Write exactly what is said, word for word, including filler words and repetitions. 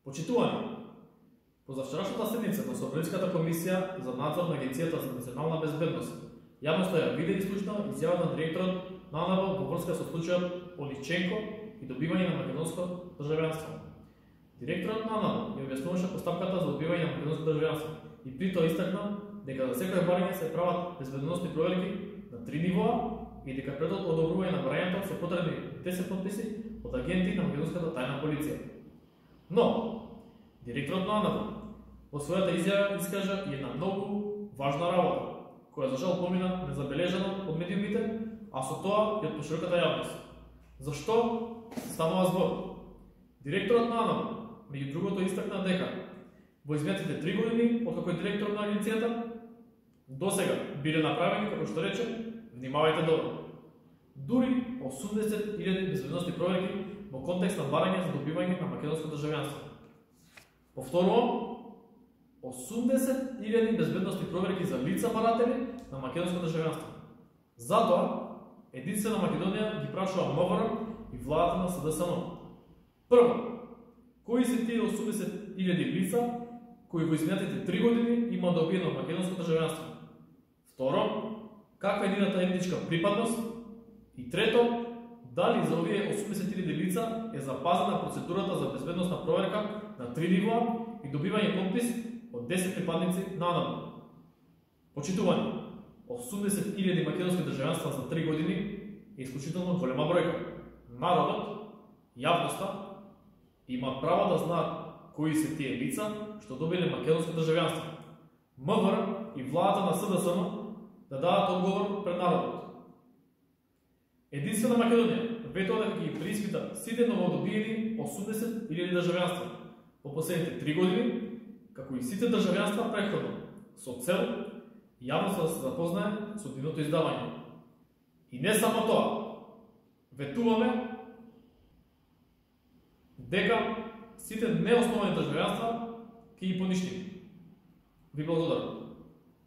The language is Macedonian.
Почитувани, позавчерашната седница на Собраниската комисија за надзор на Агенцијата за национална безбедност јавноста ја виде и слушна изјава на директорот на АНБ во врска со случајот Оличенко и добивање на македонско државјанство. Директорот на АНБ ја објаснуваше постапката за добивање на македонско државјанство и при тоа истакна дека за секој барање се прават безбедносни проверки на три нивоа и дека пред одобрување на барањето се потребни десет подписи од агенти на македонската тајна полиција. Но, директорот на АНБ во својата изјава искажа и една многу важна работа, која за жал помина незабележано од медиумите, а со тоа и од пошироката јавност. Зашто станува збор? Директорот на АНБ, меѓу другото, истакна дека во изминатите три години, откако е директор на агенцијата, досега биле направени, како што рече, внимавајте добро, дури осумдесет илјади безбедносни проверки во контекст на барање за добивање на македонско државјанство. Повторувам, осумдесет илјади безбедносни проверки за лица баратели на македонско државјанство. Затоа, единствена Македонија ги прашува МВР и владата на СДСМ. Прво, кои се тие осумдесет илјади лица кои во изминатите три години има добиено македонско државјанство? Второ, каква е нивната етничка припадност? И трето, дали за овие осумдесет илјади лица е запазена процедурата за безбедносна проверка на три нивоа и добивање подпис од десет припадници на АНБ. Почитувани, осумдесет илјади македонски државјанства за три години е исклучително голема бројка. Народот, јавноста, има право да знаат кои се тие лица што добиле македонско државјанство. МВР и владата на СДСМ да дадат одговор пред народот. Единствена Македонија ветува дека ги преиспита сите новодобиени осумдесет илјади државјанства во последните три години, како и сите државјанства претходно, со цел јавноста да се запознае со нивното издавање. И не само тоа, ветуваме дека сите неосновани државјанства ќе ги поништиме. Ви благодарам.